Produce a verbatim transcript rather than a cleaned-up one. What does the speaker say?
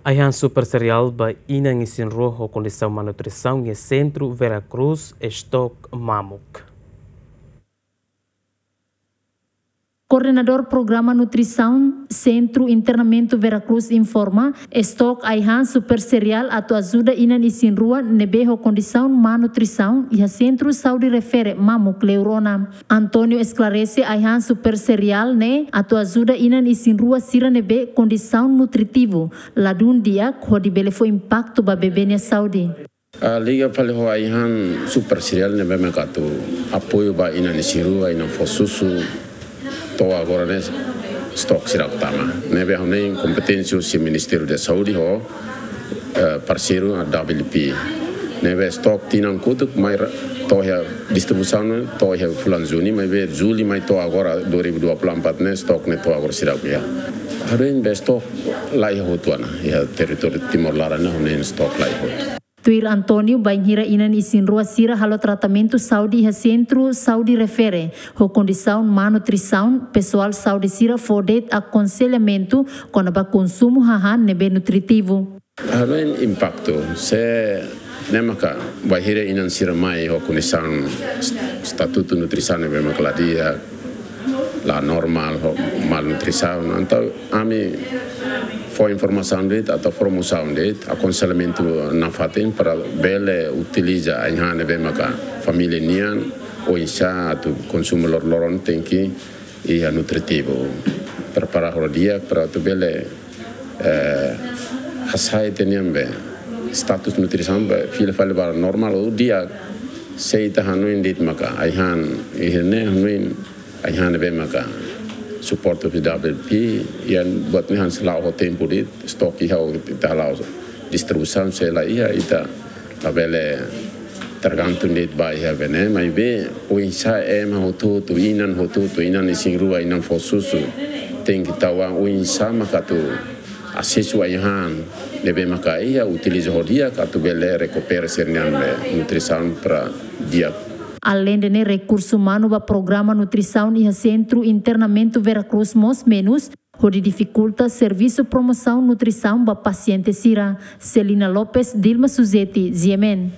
Ai-han super seriál ba inan isin-rua ho kondisaun malnutrisaun iha Sentru Vera Cruz, estok mamuk. Koordenadór Programa Nutrisaun Sentru Internamentu Vera Cruz informa, estok ai-han super seriál atu ajuda inan isin-rua ne'ebé ho kondisaun malnutrisaun iha Sentru Saúde Refere Mamuk Leur Ona. António esklarese, ai-han super seriál ne'e atu ajuda inan isin-rua sira ne'ebé kondisaun nutritivu ladún di'ak hodi bele fó impaktu ba bebé nia saúde. Ah, liga fali ho ai-han super seriál ne'ebé mak atu apoiu ba inan isin-rua, inan fó susu, to'o agora ne'e estok seidauk tama. Ne'ebé ha'u hanoin kompeténsia husi Ministériu da Saúde ho, eh, parseiru W F P. Ne'ebé estok tinan kotuk mai ra-, to'o iha distribuisaun ne'e to'o iha fulan Juni, maibé Jullu mai to'o agora dua ribu dua puluh empat ne'e estok ne'e to'o agora seidauk iha. Ha'u hanoin be estok la iha hotu ona, iha territóriu Timor laran ne'e ha'u hanoin estok la iha hotu. Tuir António, bainhira inan isin-rua sira halo tratamentu saúde iha Sentru Saúde Refere ho kondisaun malnutrisaun, pesoál saúde sira fó de'it akonsellamentu kona-ba konsumu hahán ne'ebé nutritivu. Ha'u hanoin impaktu, se ne'e maka bainhira inan sira mai ho kondisaun est-, estatutu nutrisaun ne'ebé maka la di'ak, la normál, ho malnutrisaun. Entaun ami fó informasaun de'it, atu promosaun de'it, akonsellamentu nafatin para bele utiliza ai-han ne'ebé maka família nian, oinsá atu konsumu lor-, loron tenke iha nutritivu. Prepara ho di'ak para atu bele, eh, hasai tiha nian be status nutrisaun be fila fali ba normál ou di'ak, se ita hanoin de'it maka ai-han iha ne'e hanoin ai-han ne'ebé maka suporta husi W F P, iha buat ne'e hanesan la'o ho tempu de'it, estok iha ou ita hala'o distribuisaun se la iha ita labele tergantung de'it ba iha be ne'e, maibé oinsá ema hotu-hotu, inan hotu-hotu, inan isin-rua, inan fó susu, tenke tau an oinsá maka atu asesu ai-han ne'ebé maka iha, utiliza ho di'ak atu bele rekupera sira-nia be nutrisaun para di'ak. Aleinde ne'e, rekursu umanu ba programa nutrisaun iha Sentru Internamentu Vera Cruz mós menus, hodi difikulta servisu promosaun nutrisaun ba pasiente sira. Celina Lopes, Dilma Suzeti, G M N.